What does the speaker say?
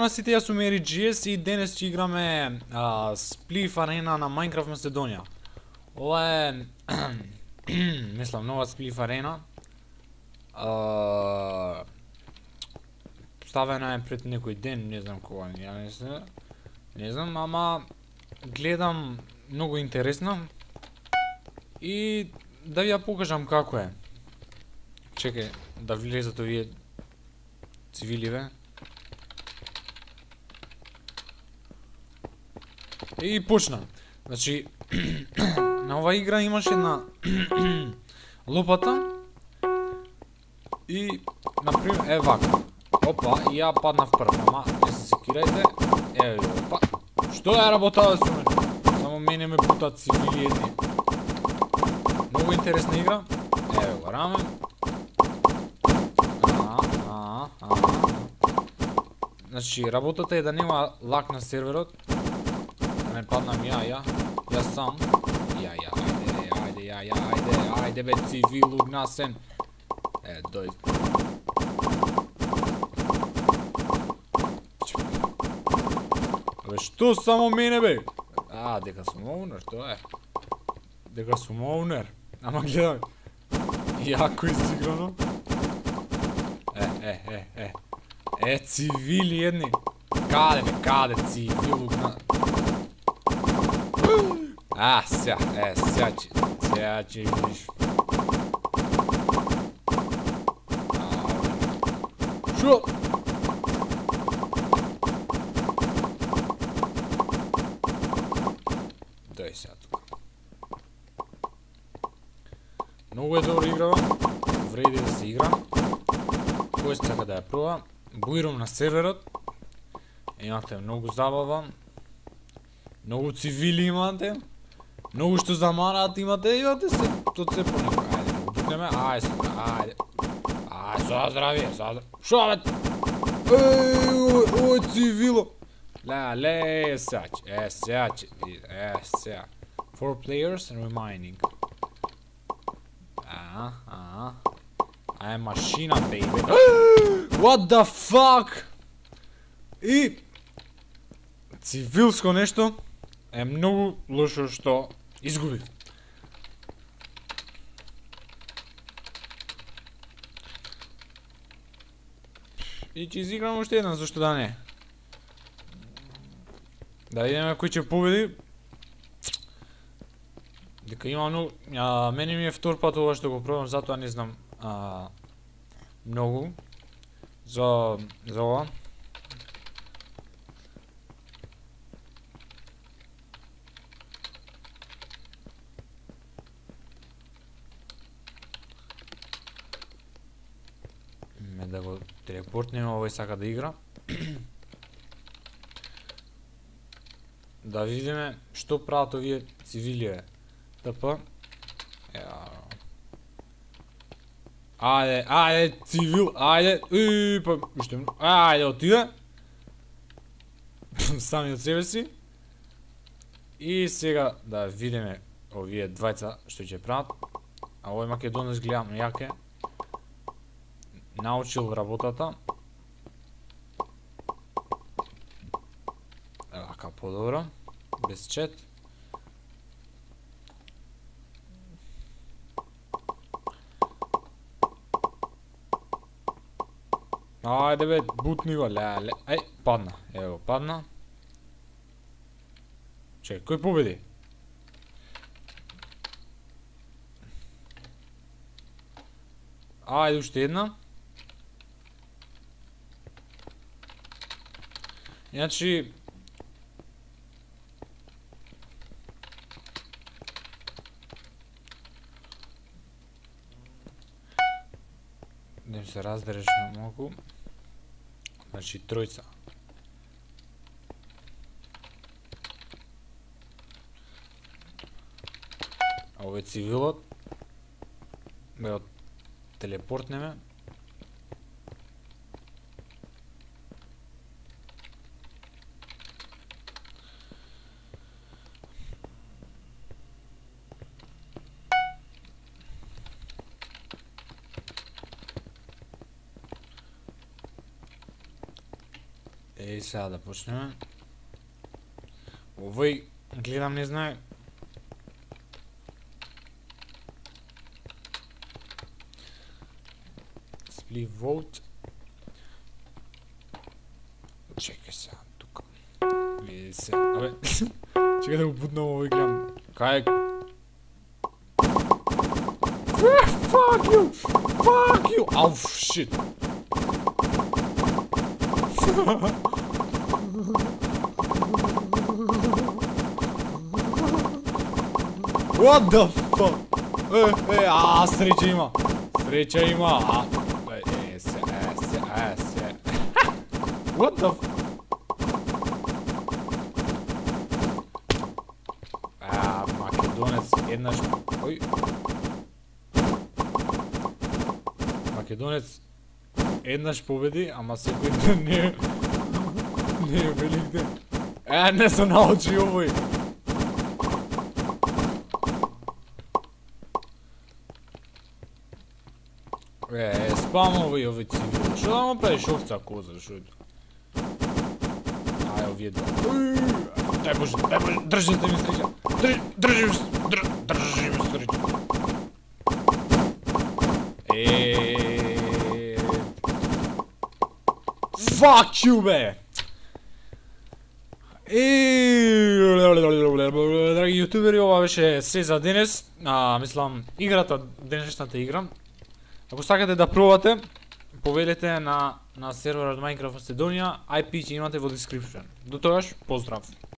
Здраво сите, јас сум EriGS и денес ќе играме Spleef Arena на Minecraft Macedonија. Ова е мислам нова Spleef Arena. Ставена е пред некој ден, не знам кога, не знам, ама гледам многу интересно и да ви ја покажам како е. Чекај да влезат овие цивиливе. И почна. Значи, на оваа игра имаше една лопата и, например, е вака. Опа, и ја паднав прв, ама не се секирајте. Еве, опа. Што е работава со мене? Само мене ме путат цивили едни. Многу интересна игра. Еве го рамен. Значи, работата е да нема лак на серверот. Да не паднам ја сам. Ајде бе цивил угнасен. Дојди. Бе, што само мене бе? Дека сум оунер, тоа е. Дека сум оунер. Ама гледај. Јако изиграно. Цивили едни. Каде цивил угнасен? Сега ќе видиш. Шо? Дај сега тука. Многу е добра играва. Вреди да се игра. Кој сака да ја проба? Буирам на серверот. Имате многу забава. Многу цивили имате. Многу што замараат имате се tot се понека. Ајде, бутнеме. Ајде. Со здравие. Шо бе? Ој цивило. Ле, сега. 4 players remaining. Машина, baby. What the fuck? И цивилско нешто е многу лошо што изгубив. И ќе изиграм уште еден, зашто да не. Да видиме кој ќе победи. Дека има многу... мене ми е втор пат ова што го пробам, затоа не знам многу за ова. Да го телепортнеме, овој сака да игра. Да видиме што прават овие цивили. ТП. Ајде, цивил, ајде. Ајде, отиде. Сами од себе си. И сега да видиме овие двајца што ќе прават. А овој македонец гледам јаке. Научил работата. Вака подобро. Без чет. Ајде бе, бутни го, ле. Падна. Ево, падна. Чекай, кој победи? Ајде, уште една. Значи... Да се раздереш малку. Значи, тројца. А овој цивилот. Бе од телепортнеме. сега да почнеме. Овој гледам не знае. Split vote. Чекај сега тука. Види се. Абе, чекај да го бутнам овој гледам. Кај Fuck you! Fuck you! Ау, shit! What the fuck? Среќа има! Среќа има! Се. What the fuck? Македонец еднаш... Ој... Македонец еднаш победи, ама секој ден не е велик ден. Не се научи овој. Спамови овој цивил. Шо да му правиш овца коза, шо е тоа? Ај, овие два. Дај Боже, држите ми среќа. Држи ми среќа. Fuck you, бе! Драги јутубери, ова беше се за денес. Мислам, играта, денешната игра. Ако сакате да пробате, повелете на серверот Minecraft Macedonија, IP ќе имате во description. До тогаш, поздрав!